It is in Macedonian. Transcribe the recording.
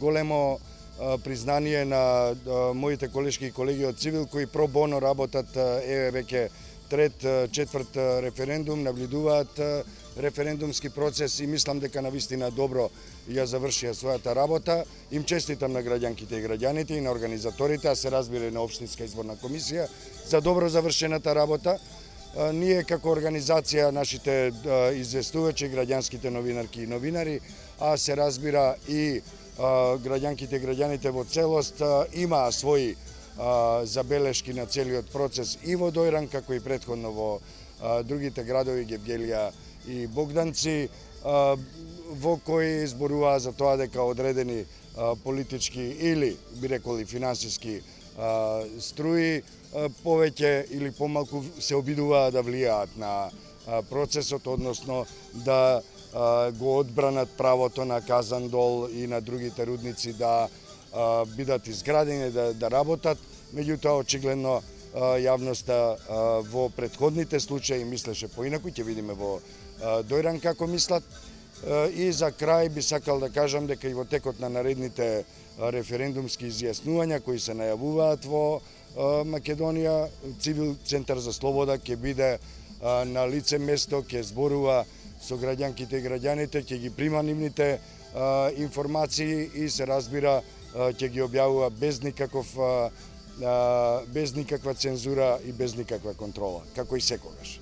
големо признание на моите колешки и колеги од Цивил кои про боно работат веќе трет, четврт референдум, наблюдуваат референдумски процес и мислам дека навистина добро ја завршија својата работа. Им честитам на граѓанките и граѓаните и на организаторите, а се разбира и на Општинска изборна комисија за добро завршената работа. Ние како организација, нашите известувачи, граѓанските новинарки и новинари, а се разбира и граѓанките и граѓаните во целост имаа своји забелешки на целиот процес и во Дојран, како и претходно во другите градови, Гевгелија и Богданци, во кои зборуваа за тоа дека одредени политички или, би рекол, и финансиски струи повеќе или помалку се обидуваа да влијаат на процесот, односно да го одбранат правото на Казандол и на другите рудници да бидат изградени, да работат. Меѓутоа, очигледно, јавноста во претходните случаи мислеше поинаку, ќе видиме во Дојран како мислат. И за крај би сакал да кажам дека и во текот на наредните референдумски изјаснувања кои се најавуваат во Македонија, Цивил Центар за слобода ќе биде на лице место, ќе зборува со граѓанките и граѓаните, ќе ги прима нивните информации и се разбира ќе ги објавува без никаква цензура и без никаква контрола, како и секогаш.